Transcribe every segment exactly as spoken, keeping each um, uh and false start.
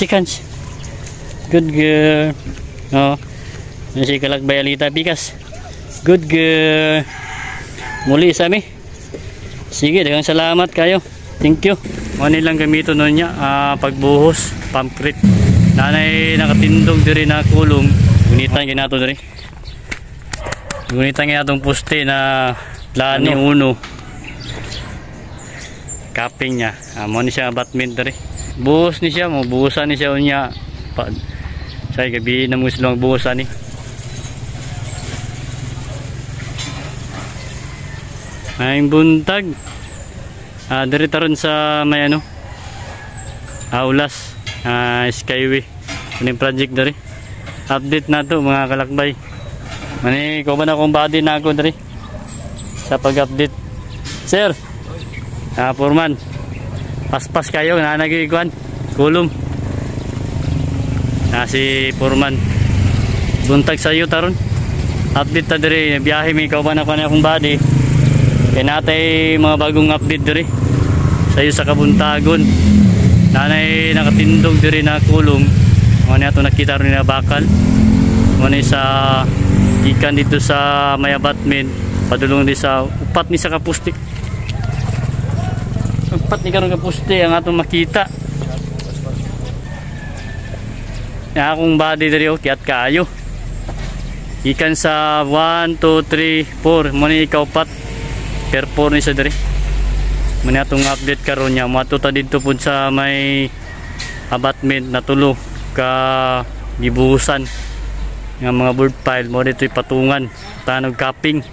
Shake hands. Good girl. Oh. Yan si Kalakbay Alita Pikas. Good girl. Muli sa mi. Sige, daghang salamat kayo. Thank you. Mo ni lang gamiton nun niya, ah, pagbuhos, pumpcrete. Nanay nakatindog diri na kulong. Gunitan ginato diri. Gunitan nga atong poste na plani Ano? uno. Capping niya. Ah, mo ni siya abutment diri. Buhos ni siya, mo buhusan ni siya unya. Pa, sa gabi na mo silang buhusan ni. Ay buntag. Ah, diri taron sa may ano? Ah, Ulas, ah, Skyway. Kuning project diri. Update na to mga kalakbay. Mani ko ba na akong body na ako diri sa pag-update. Sir. Ah, Foreman. Paspas kayo na nagikuan. Kulom. Na si Foreman. Buntag sa iyo taron. Update ta diri, biyahe mi kauban ako na akong body. Kaya natay mga bagong update diri sa iyo sa kabuntagon. Nanay nakatindog diri na kulong. Mga niya ito nakita rin na bakal. Mga ni sa ikan dito sa may abutment. Padulong di sa upat ni sa kapusti. Upat ni karon kapusti ang atong makita. Ya, akong body diri oh, kiyat kaayo. Ikan sa one, two, three, four. Mo ni ikaw pat. Per four ni sa diri. Muna atong update karon niya. Moadto ta didto pud sa may abutment na tulo ka gibuhusan nga mga board pile mo dito ipatungan tanog capping.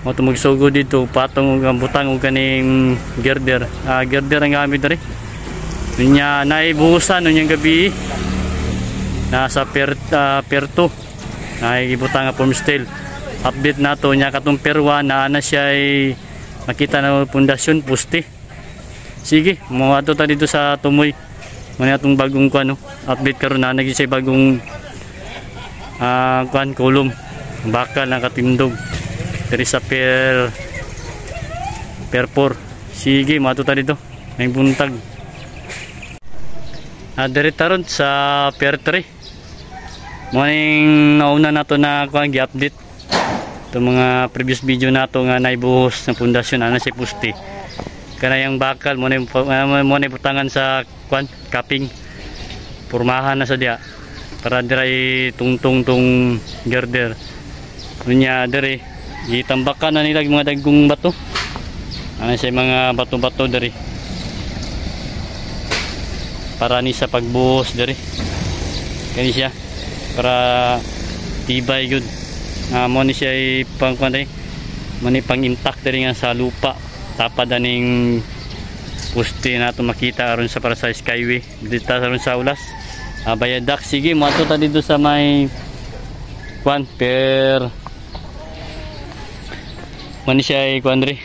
Mo to magsugod dito patong og ang butang og kaning girder. Ah, girder ang gamit diri. Unya naibuhusan unyang gabi. Nasa per uh, per two. Naibutang nga form steel. Update nato nya katong per one na ana siya ay makita na pundasyon poste. Sige, moadto ta dito sa Tumoy. Muna atong bagong kuan no. Update karon na nagi siya bagong ah kuan kulom. Bakal na katindog. Diri sa per per four. Sige, moadto ta dito. May buntag. Ah, diri taron sa per three. Morning nauna nato na kuan gi-update itong mga previous video nato nga naibuhos ng pundasyon ana si poste. Kanayang bakal mo na mo na butangan sa kuan capping. Pormahan na sa diya para diray tungtong tong girder. Unya diri gitambakan na nila mga dagkong bato. Ana siya mga bato-bato diri. Para ni sa pagbuhos diri. Kani siya para tibay gud. Ah, mo ni siya pang kuan diri. Mo ni pang intact diri nga sa lupa. Tapad aning poste na ato makita aron sa para sa Skyway dito aron sa Ulas. Ah, viaduct. Sige, moadto ta dito sa may kuan per mo ni siya kuan diri.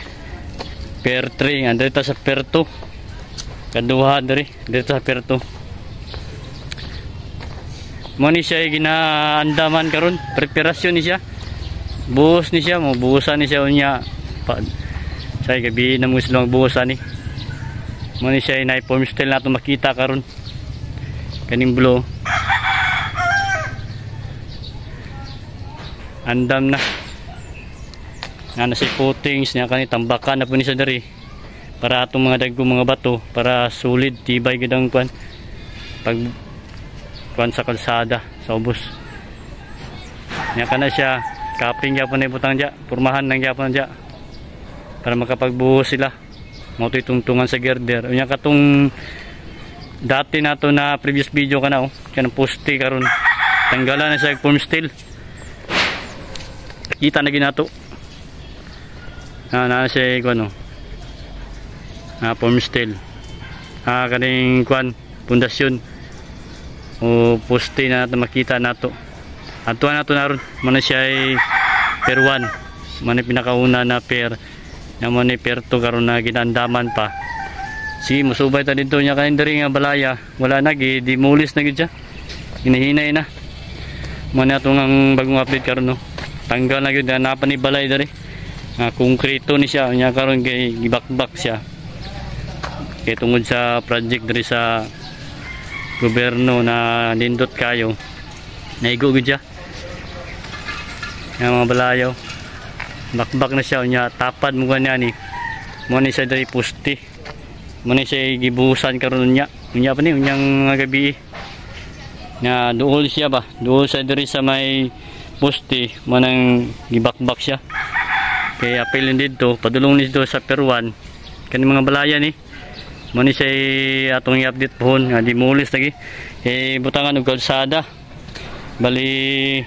Per three, andre ta sa per two. Kaduha diri, dito sa per two. Mo ni siya ginaandaman karon, preparasyon ni siya. Buhos ni siya, mo buhusan ni siya unya. Pa, say gabi na mo silang buhusan ni. Mo ni siya na form style nato makita karon. Kaning blue. Andam na. Nga na si footings niya kani tambakan na po ni siya diri. Para atong mga dagko mga bato para solid tibay gid ang kuan. Pag kuan sa kalsada sa ubos. Nya kana siya capping gyapon na ibutang diya, pormahan nang gyapon diya para makapagbuhos sila. Mao to'y tungtungan sa girder. Unya katong dati nato na previous video kana oh, kanang poste karon. Tanggalan na siya form steel. Kita na ginato. Na na siya kuan oh. Ah, form steel. Ah, kaning kuan pundasyon o poste na nato makita nato. Atuan nato naron man siya ay per one. Man pinakauna na per na man ni per two karon na ginandaman pa. Sige, musubay ta dito nya kanin diri nga balaya. Wala na gi demolish na gid siya. Ginahinay na. Man ato ang bagong update karon no. Tanggal na gyud na pa ni balay diri. Nga konkreto ni siya nya karon kay gibakbak siya. Kay tungod sa project diri sa gobyerno na nindot kayo. Naigo gud siya. Yang mga balayaw. Bakbak na siya unya tapad mo gani ni. Mo ni siya diri puste. Mo ni siya gibuhusan karon unya. Unya pa ni unyang mga gabi. Nga duol siya ba? Duol siya diri sa may poste mo nang gibakbak siya. Kay apil didto padulong ni dito sa Peruan kani mga balaya ni. Mo ni siya atong i-update pohon nga dimulis lagi. Eh butangan og kalsada. Bali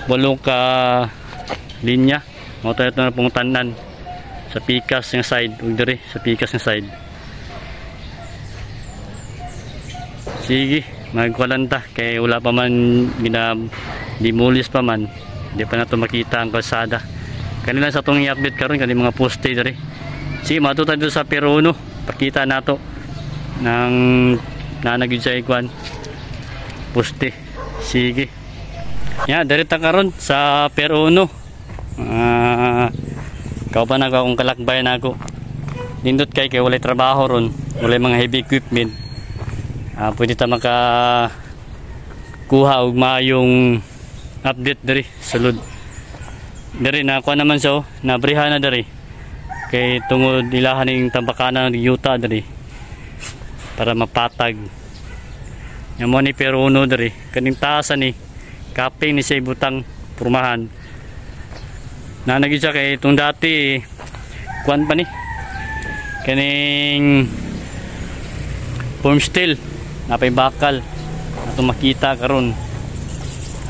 walo ka linya. Mao to ito na pong tanan sa pikas nga side ug diri sa pikas nga side. Sige, magkulan ta kay wala pa man gina dimulis pa man. Di pa nato makita ang kalsada. Kanila sa atong i-update karon kani mga poste diri. Sige, mato ta dito sa Peruno. Pakita nato ng nanagid sa ikwan poste. Sige. Ya, diri ta karon sa Peruno. Ah, kauban ako akong kalakbay na ako. Nindot kay kay walay trabaho ron, walay mga heavy equipment. Ah, pwede ta maka kuha og maayong update diri sulod. Diri nakuha naman so, nabriha na diri. Kay tungod ilahan ning tambakanan ng yuta diri para mapatag. Nya mo ni Peruno diri, kaning taas ni kaping ni siya ibutang pormahan. Nanagi siya kay itong dati kuan pa ni kaning form steel napay bakal ato makita karon.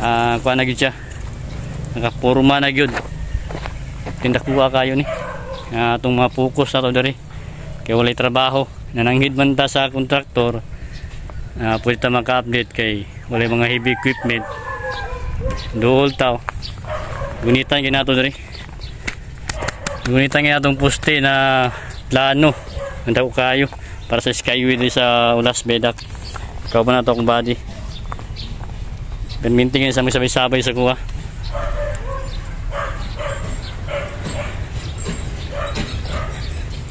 Ah, kuan na gyud siya, nakaporma na gyud. Tindakuha kayo ni uh, atong mga focus na to diri kay walay trabaho, nananghid man ta sa kontraktor. Uh, pwede ta maka-update kay walay mga heavy equipment. Duol taw gunitan ginato diri, gunitan ginatong poste na plano ang dako kayo para sa skyway diri sa Ulas Bedak. Ikaw pa na to akong body perminting sa mga sabay-sabay sa kuha.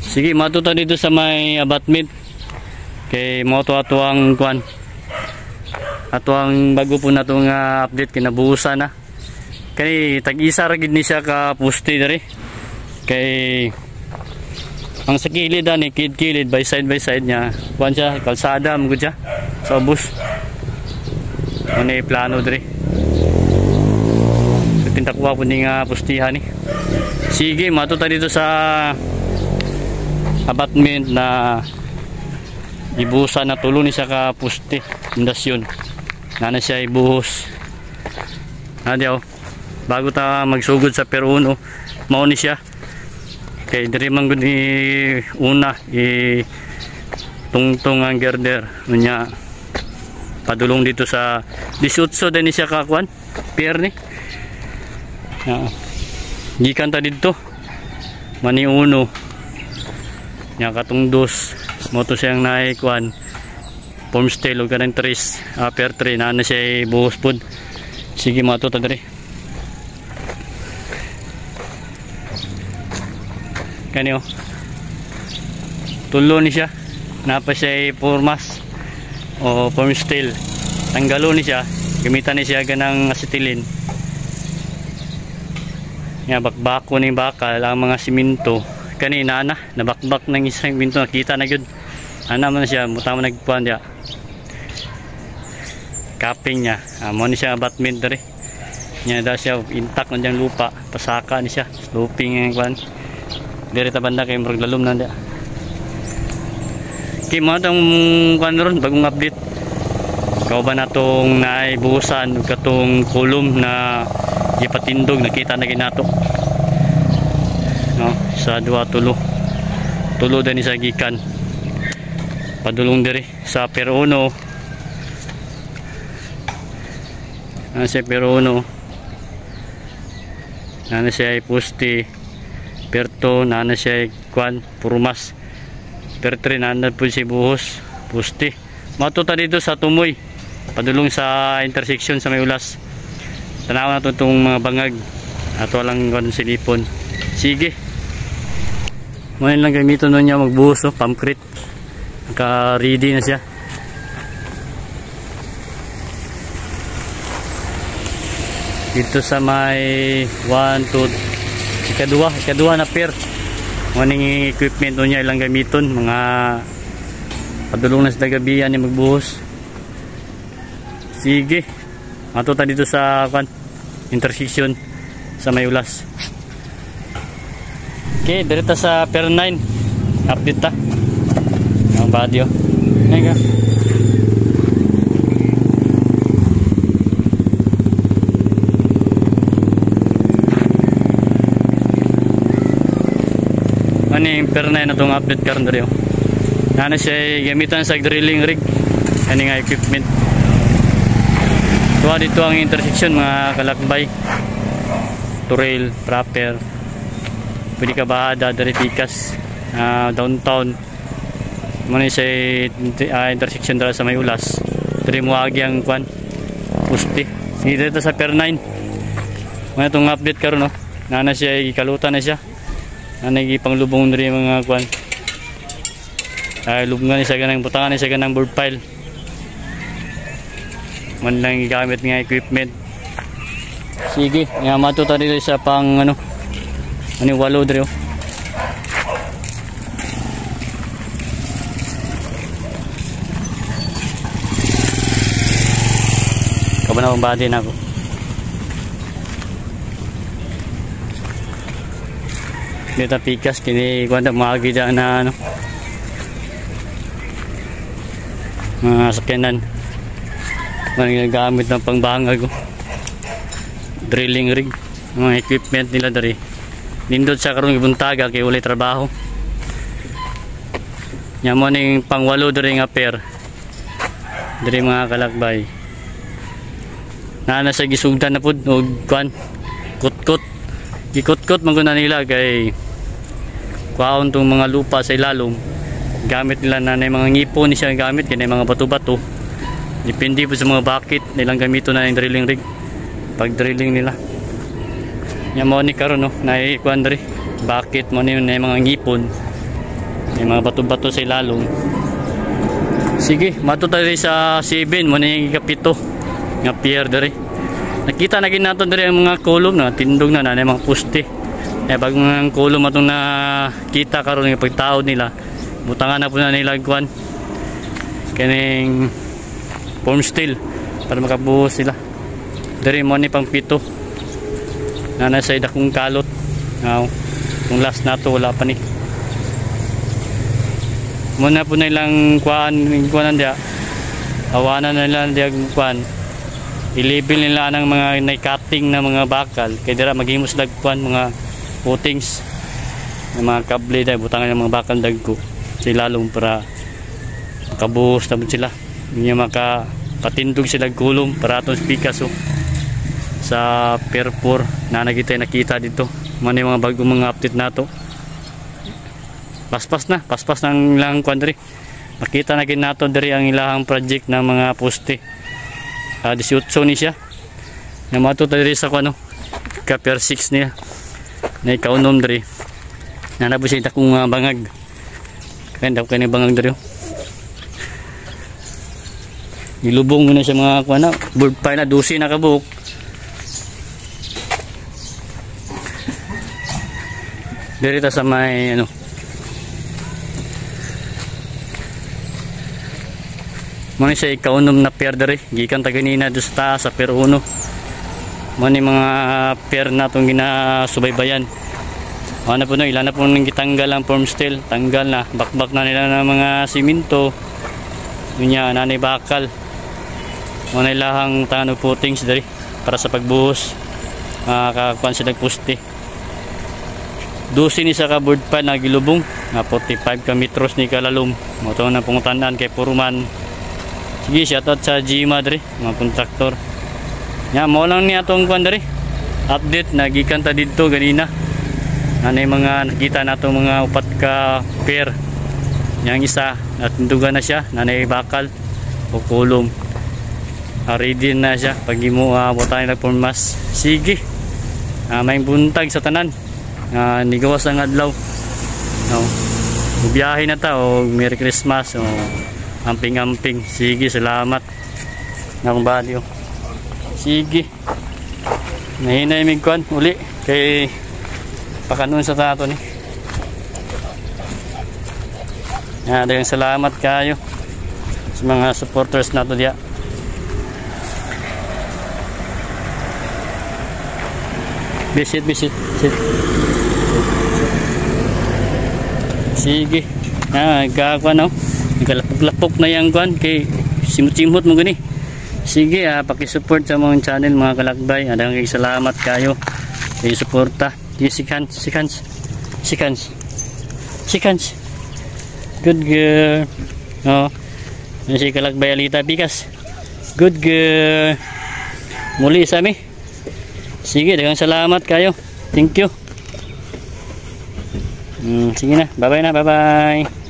Sige, matuta dito sa may abutment kay mo to ato ang kuan, ato ang bago po na itong uh, update kinabuhusan na. Kay tag-isa ra gid ni siya ka poste diri. Kay ang sa kilid ani, kilid-kilid by side by side niya. Kuan siya, kalsada mo gud siya sa ubos. Ano plano diri. So tintakuha po ni nga postihan ni. Sige, matuta dito sa abutment na ibuhusan na tulo ni siya ka poste pundasyon. Nana siya ibuhos. Nadiyaw. Bago ta magsugod sa Peruno, mao ni siya. Kay diri man gud ni una i tungtong ang girder unya padulong dito sa eighteen din ni siya kakuan pier ni. Uh, gikan ta didto mani uno nya katong dos mo to siyang naay kuan form steel ug kanang tres uh, pier three na na siya buhos pud. Sige, mato ta diri. Kani oh. Tulo ni siya. Napa siya formas o form steel. Tanggalo ni siya. Gamitan ni siya ganang acetylene. Nga bakbako ni bakal ang mga simento. Kanina na nabakbak ng isang minto, nakita na gyud. Ana man siya, muta man nagkuan diya. Kaping niya. Ah, mo ni siya abutment diri. Nya da siya intact na diyang lupa, pasaka ni siya, sloping ang kuan. Diri ta banda kay murag lalom na diya. Kay mo tong kuan ron bagong update. Kauban natong naibuhusan ug katong kulom na gipatindog, nakita na ginato. No, sa duha tulo. Tulo din sa gikan. Padulong diri sa Peruno. Ano siya Peruno? Nana siya poste. Perto nana siya kwan purmas. Pertre nana po si buhos poste. Matuta dito sa Tumoy. Padulong sa intersection sa may Ulas. Tanaw na to itong mga bangag. Ato lang kwan silipon. Sige. Ngayon lang gamiton nun niya magbuhos, oh, pumpcrete. Naka-ready na siya. Dito sa may one, two, ikaduha, ikaduha na pier. Morning equipment niya ilang gamiton, mga padulong na sa gabihan ni magbuhos. Sige. Ato ta dito sa kwan, intersection sa may ulas. Okay, direta sa pier nine. Update ta. Ang body oh. Ngayon ka. Ano yung pier nine na itong update karon diri oh. Ano siya gamitan sa drilling rig. Ano nga equipment. Tuwa dito ang intersection mga kalakbay. Trail proper. Pwede ka bahada diri pikas uh, downtown. Muna siya uh, intersection dara sa may ulas. Diri mo agi ang kwan puste. Sige dito sa pier nine. Muna itong update karon no. Nana siya gikalutan na siya. Nana gipanglubong diri mga kwan. Ay lubngan siya ganang butangan siya ganang board pile. Man lang gigamit nga equipment. Sige, nga mato ta diri sa pang ano. Ano walo diri oh. Kabana akong body na ako. Dito pikas kini kuan ta maagi dyan na ano. Mga sakyanan. Mga ginagamit ng pangbangag oh. Drilling rig, mga equipment nila diri. Nindot sa karong ibuntaga kay walay trabaho. Nya mo ning pangwalo diri nga pair. Diri mga kalakbay. Naa na sa gisugdan na pud og kuan kutkot. Gikutkot man gud na nila kay kuhaon tong mga lupa sa ilalom. Gamit nila na na mga ngipon ni siya gamit kay mga bato-bato. Depende po sa mga bucket nilang gamiton na yung drilling rig. Pag drilling nila. Nya mo ni karon no, naay kuan diri. Bucket mo ni na mga ngipon. May mga bato-bato sa ilalom. Sige, mato tayo sa seven mo ni ikapito nga pier diri. Nakita na gid nato diri ang mga column na tindog na na mga poste. Eh bag mga column atong nakita karon nga pagtaod nila. Butangan na po na nila kuan kining form steel para makabuhos sila. Diri mo ni pang pito. Na nasa dakong kalot. Now, kung last nato wala pa ni. Muna po na ilang kuan kuanan dia. Awanan na nila dia kuan. I-label nila ang mga na-cutting na mga bakal kay dira maghimos dag kuan mga footings ng mga kable dai butangan ng mga bakal dagko sa ilalom para makabuhos na sila. Hindi maka patindog sila gulong para atong pikas oh. Sa pier four na nagitay nakita dito. Man yung mga bagong mga update nato. Paspas na, paspas ng ilang kuan diri. Makita na gid nato diri ang ilahang project ng mga poste. Uh, eighteen ni siya. Namato ta diri sa kuan no. Ka pier six niya. Na ikaunom diri. Nanabo siya dakong uh, bangag. Kaya dako kay bangag diri. Ilubong mo na siya mga kuan na. Board pile na twelve na kabuok. Diri ta sa may ano. Muna siya ikaunom na pier diri. Gikan ta ganina do sa taas sa pier one. Muna yung mga pier na itong ginasubaybayan. Ano po no, ilan na po nang gitanggal ang form steel. Tanggal na. Bakbak na nila ng mga simento. Yun niya, nanay bakal. Muna ilahang tanong footings diri para sa pagbuhos. Makakakuan sila poste. twelve ni sa ka board pile na gilubong. Nga forty-five ka metros ni kalalom. Mo na pangutanan kay Puruman. Sige, shoutout sa Gima diri, mga kontraktor. Nya mo lang niya atong kuan diri. Update nagikan ta didto ganina. Ano yung mga nakita nato mga upat ka pair. Yang isa natindugan na siya, nanay bakal o kulong. Uh, ready na siya pag imo uh, butangan nila formas. Sige. Uh, may buntag sa tanan. Uh, nigawas ang adlaw. No. Biyahe na ta o Merry Christmas o amping-amping. Sige, salamat. Nakong bali oh. Sige. Nahinay mig kwan uli kay pakanon sa tato ni. Ya, daghang salamat kayo sa mga supporters nato diya. Visit, visit, sit. Sige. Ah, gagwa no. Nagkalapok-lapok na yang kwan kay simot-simot mo gani. Sige, ah, paki-support sa mga channel mga kalakbay. Adang kay salamat kayo. Kay suporta. Sige, shake hands, shake hands. Shake hands. Shake hands. Good girl. Oh. Si Kalakbay Alita Pikas. Good girl. Muli sa mi. Sige, daghang salamat kayo. Thank you. Mm, sige na. Bye-bye na. Bye-bye.